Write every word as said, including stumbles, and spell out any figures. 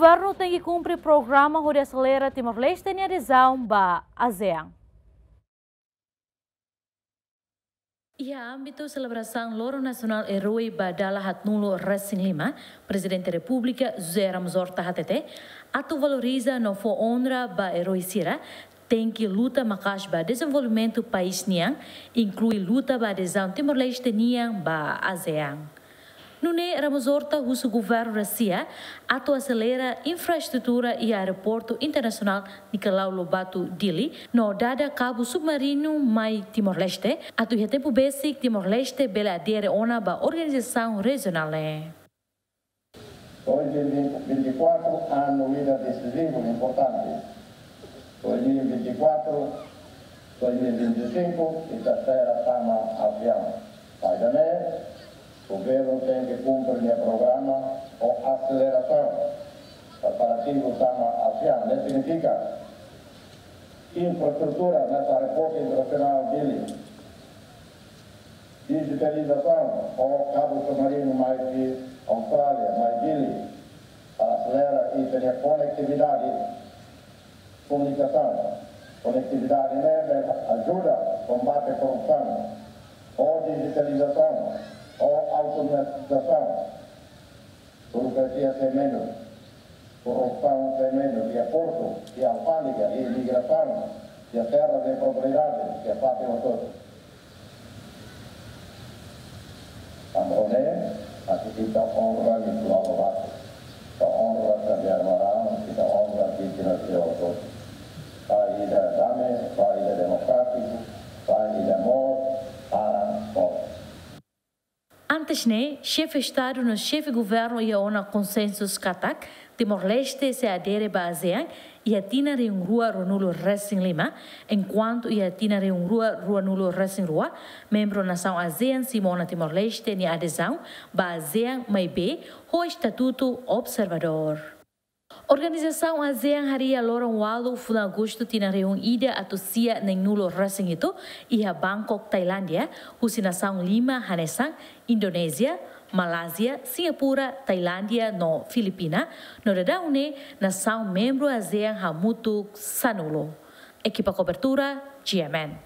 Governu tenke kumpre programa hodi aselera Timor-Leste nia adezaun ba ASEAN. Iha ámbitu selebrasaun Loron Nasionál Erói ba dala haatnulu resin lima, Prezidente Repúblika José Ramos Horta hatete, atu valoriza no fó onra ba erói sira, tenke luta maka'as ba dezenvolvimentu país nian, inklui luta ba adezaun Timor-Leste nian ba ASEAN. Nune'e Ramos Horta husu governu Rúsia atu aselera infraestrutura iha Aeroportu Internasionál Nicolau Lobato Dili, no dada kabu submarinu mai Timor-Leste, atu iha tempu besik Timor-Leste bele adere ona ba organizasaun rejionál ne'e. Dois mil e vinte e quatro, ano ida desizivu importante. Dois mil e vinte e quatro, dois mil e vinte e cinco, ita espera tama ASEAN. Maibé, governu tenke kumpre nia programa ho aselerasaun preparativu tama ASEAN. Ne'e signifika infraestrutura iha Aeroportu Internasionál Dili, dijitalizasaun ho kabu submarinu mai Austrália, mai Dili, para aselera ita-nia konektividade, komunikasaun. Konektividade ne'e ajuda kombate korrupsaun, ho dijitalizasaun, ho automatizasaun. Burokrasia sai menus, korrupsaun sai menus, iha portu, iha alfándega, iha imigrasaun, iha terras de propriedade, iha parte hotu. Tanba ne'e, ita onra Nicolau Lobato, ita onra Xavier Maran, ita onra vítima sira hotu. Ba ida dame, ba ida demokrátiku, ba ida moos, para moos. Antes ne'e, xefe Estadu no xefe Governu iha ona konsensu katak Timor-Leste sei adere ba ASEAN iha tinan rihun rua ruanulu resin lima, enkuantu iha tinan rihun rua ruanulu resin rua, membru nasaun ASEAN simu ona Timor-Leste nia adezaun ba ASEAN maibé ho estatutu observadór. Organizasaun ASEAN harii loron ualu fulan Agostu tinan rihun ida atus sia neenulu resin hitu iha Bangkok, Tailándia, husi nasaun lima hanesan Indonézia, Malázia, Singapura, Tailándia no Filipina, no daudaun ne'e nasaun membru ASEAN hamutuk sanulu. Ekipa kobertura, G M N.